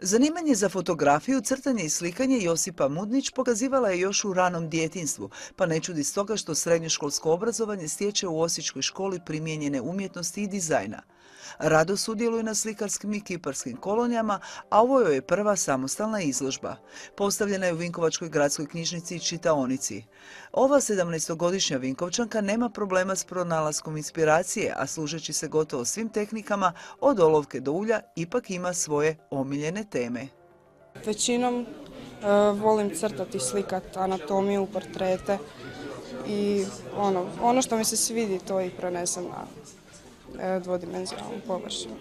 Zanimanje za fotografiju, crtanje i slikanje Josipa Mudnić pokazivala je još u ranom djetinjstvu, pa ne čudi stoga što srednjoškolsko obrazovanje stječe u Osječkoj školi primijenjene umjetnosti i dizajna. Rado sudjeluje na slikarskim i kiparskim kolonijama, a ovo joj je prva samostalna izložba. Postavljena je u Vinkovačkoj gradskoj knjižnici i čitaonici. Ova 17-godišnja Vinkovčanka nema problema s pronalaskom inspiracije, a služeći se gotovo svim tehnikama, od olovke do ulja, ipak ima svoje omiljene teme. Većinom volim crtati, slikati anatomiju, portrete i ono što mi se svidi to i prenesem na dvodimenzionalnu površinu.